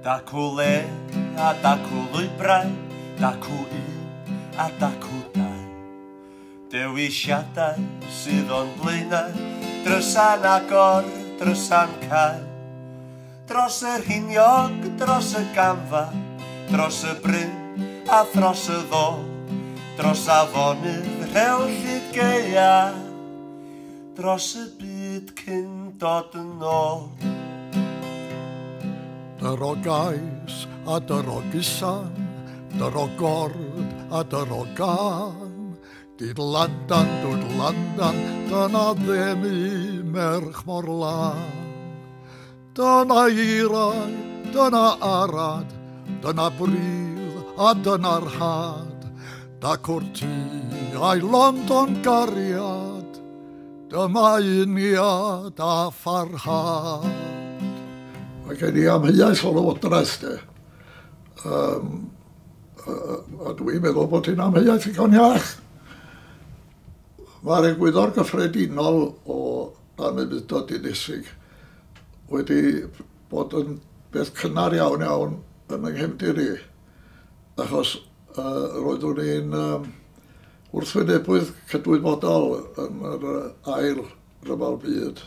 Dacw le a dacw lwybrau, dacw un a dacw dau. Dewisiadau sydd o'n blaenau, drysa'n agor, drysa'n cau. Dros y rhiniog, dros y gamfa, dros y bryn a thros y ddôl, dros afonydd rhewllyd gaea, dros y byd cyn dod yn ôl. Dyro gais a dyro gusan, dyro gord a dyro gan, didlandan, dwdlandan, dyna ddenu merch mor lân. Dyna eirau, dyna arad, dyna bridd a dyna'r had, dacw'r tŷ a'i lond o'n gariad, dyma uniad a pharhad. Mae gen i amheuaeth o lywodraeth de. A dwi'n meddwl bod hi'n amheuaeth ddigon iach. Mae'r egwyddor gyffredinol o anufudd-dod dinesig wedi bod yn beth cynnar iawn iawn yn yng nghefndir i, achos roeddwn i'n wrthwynebydd cydwybodol yn yr ail ryfel byd.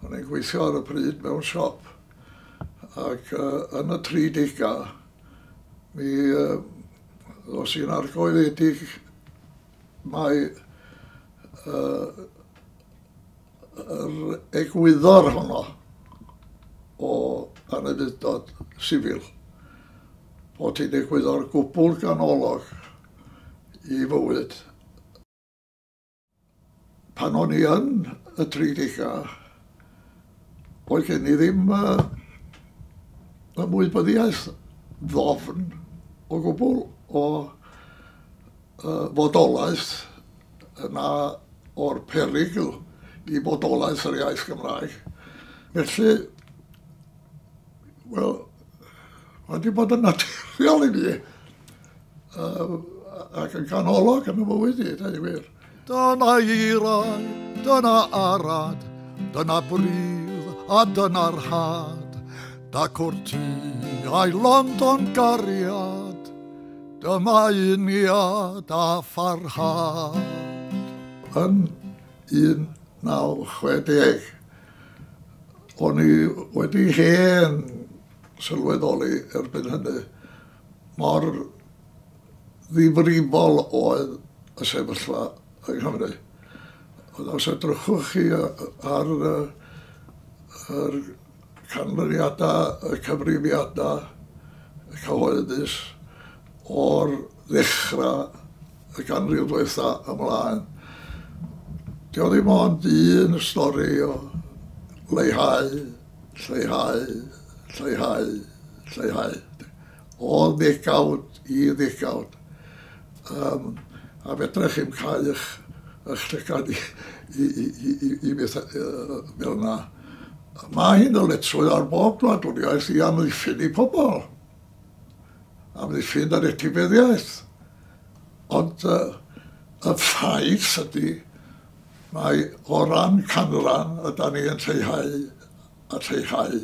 O'n i'n gweithio ar y pryd mewn siop, ac yn y 30au mi ddos i'n argoeledig mai yr egwyddor honno o anufudd-dod sifil, bod hi'n egwyddor gwbl ganolog i fywyd. Pan o'n i yn y 30au, oedd gen i ddim ymwybyddiaeth ddofn o gwbl o fodolaeth yna o'r perygl i fodolaeth yr iaith Gymraeg. Felly, wel, mae wedi bod yn naturiol i fi ac yn ganolog yn y fywyd i, dweud gwir. Dyna eirau, dyna arad, dyna bridd a dyna'r had, dacw'r tŷ a'i lond o'n gariad, dyma uniad a pharhad. Yn 1960, o'n i wedi hen sylweddoli erbyn hynny mor ddifrifol oedd y sefyllfa yng Nghymru. Ond os edrychwch chi ar yr canlyniadau, y cyfrifiadau cyhoeddus o'r ddechrau y ganrif ddiwetha ymlaen, dio ddim ond un stori o leihau, lleihau, lleihau, lleihau. O ddegawd i ddegawd. A fedrech chi'm cau eich llygad i beth fel yna. Mae hi'n ddyletswydd ar bob gwladwriaeth i amddiffyn i pobl. Amddiffyn yr etifeddiaeth. Ond y ffaith ydy, mae o ran canran ydan ni yn lleihau a lleihau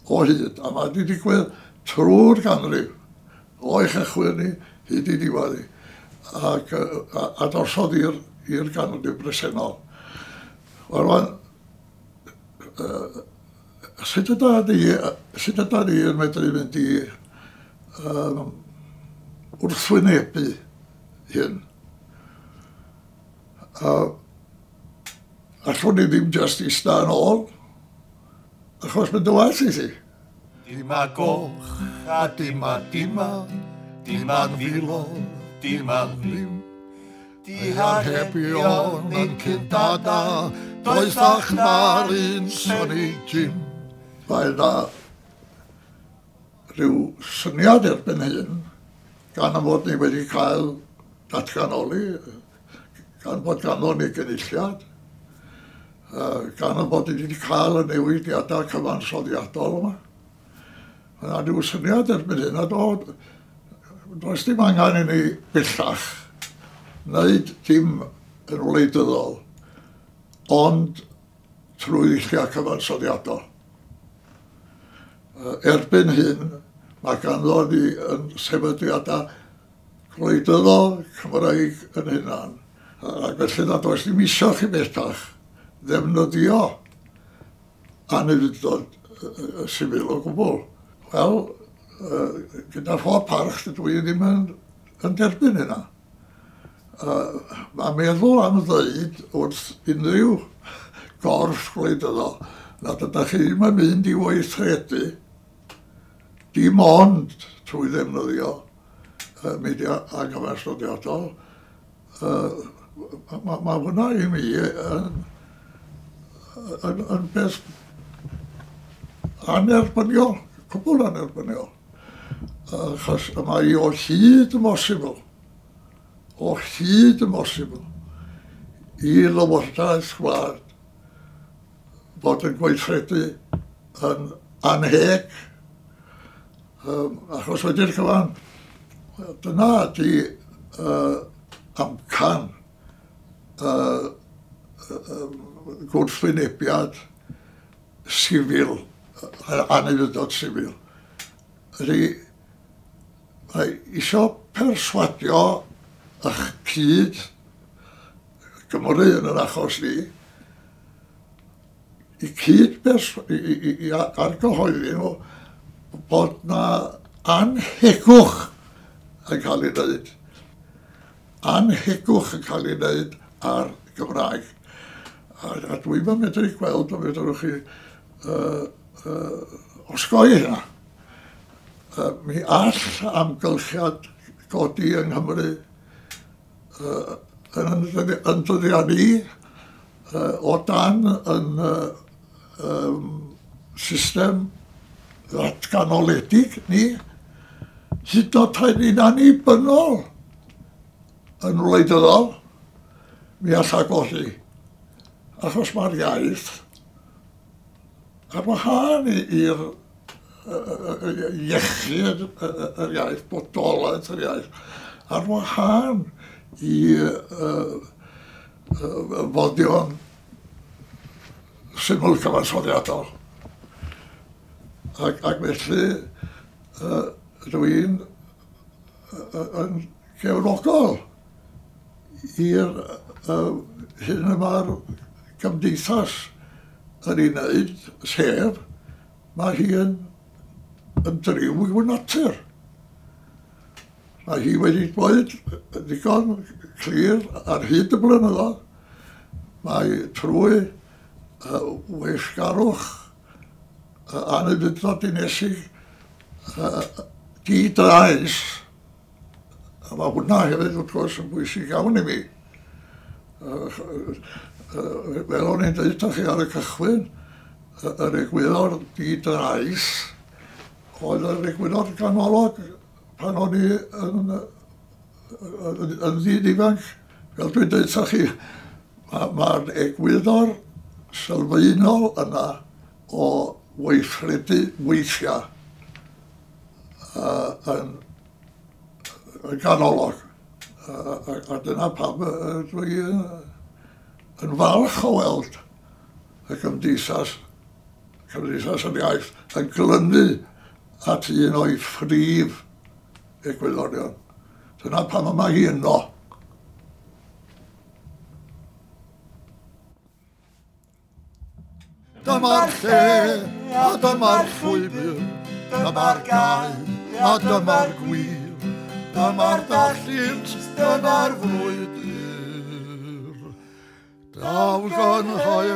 o hyd. A mae wedi digwydd trwy'r ganrif, o'i chychwyn ni hyd i diwedd hi, ac a drosodd i'r ganrif bresennol. Wel, rwan, sut yda ni yn medru mynd i wrthwynebu hyn? Allwn ni ddim jyst ista yn ôl, achos mynd yn waeth i ti. Dima goch a dima dima, dima'n filodd, dima'n ddim. Diharebion yn cyndada, doethach na'r un Sonny Jim. Mae yna rhyw syniad erbyn hyn, gan am fod ni wedi cael datganoli, gan bod ganddo ni gynulliad, gan am bod ni wedi cael y newidiadau cyfansoddiadol yma. Mae yna rhyw syniad erbyn hyn, a does dim angen i ni bellach wneud dim yn wleidyddol, ond trwy ddulliau cyfansoddiadol. Erbyn hyn, Mae ganddo ni yn sefydliadau gwleidyddol Cymraeg yn hunan. Ac felly nad oes ddim isio chi bellach ddefnyddio anufudd-dod sifil o gwbl. Wel, gyda phob parch, dydw i ddim yn derbyn hynna. Mae meddwl am ddeud wrth unrhyw gorff gwleidyddol nad ydych chi ddim yn mynd i weithredu dim ond trwy ddefnyddio media anghyfansoddiadol, mae hwnna i mi yn beth anerbyniol, cwbl anerbyniol. Achos mae o hyd yn bosibl, o hyd yn bosibl, i lywodraeth gwlad fod yn gweithredu yn anheg, achos wedi'r cyfan, dyna ydy amcan gwrthwynebiad sifil, anufudd-dod sifil. Ydy, mae isio perswadio eich cyd Gymru yn yr achos ni, i cyd i argyhoeddi nhw bod na anhegwch yn cael ei wneud. Anhegwch yn cael ei wneud ar Gymraeg. A dwi'm yn medru gweld o fedrwch chi osgoi hynna. Mi all amgylchiad godi yng Nghymru yn dyddiau ni o dan yn system ddatganoledig ni, hyd yn oed rhaid ni'n annibynnol yn wleidyddol, mi alla golli. Achos mae'r iaith ar wahân i'r iechyd yr iaith, bodolaeth yr iaith, ar wahân i foddion syml cyfansoddiadol. Ac felly dwi'n yn gefnogol i'r hyn y mae'r gymdeithas yn ei wneud, sef mae hi yn driw i'w natur. Mae hi wedi dweud ddigon clir ar hyd y blynyddoedd, mae trwy weithgarwch anufudd-dod dinesig di-drais, a mae hwnna hefyd wrth gwrs yn bwysig iawn i mi. Fel o'n i'n dweud chi ar y cychwyn, yr egwyddor di-drais oedd yr egwyddor ganolog pan o'n i yn ddyn ifanc. Fel dwi'n dweud chi, mae'r egwyddor sylfaenol yna o weithredu weithiau yn ganolog. A dyna pam dwi yn falch o weld y Gymdeithas yr Iaith yn glynu at un o'i phrif egwyddorion. Dyna pam mae hi yno. Dyma'r lle a dyma'r llwybr, dyma'r gae a dyma'r gwir, dyma'r dallynt, dyma'r frwydr. Daw gynhaeaf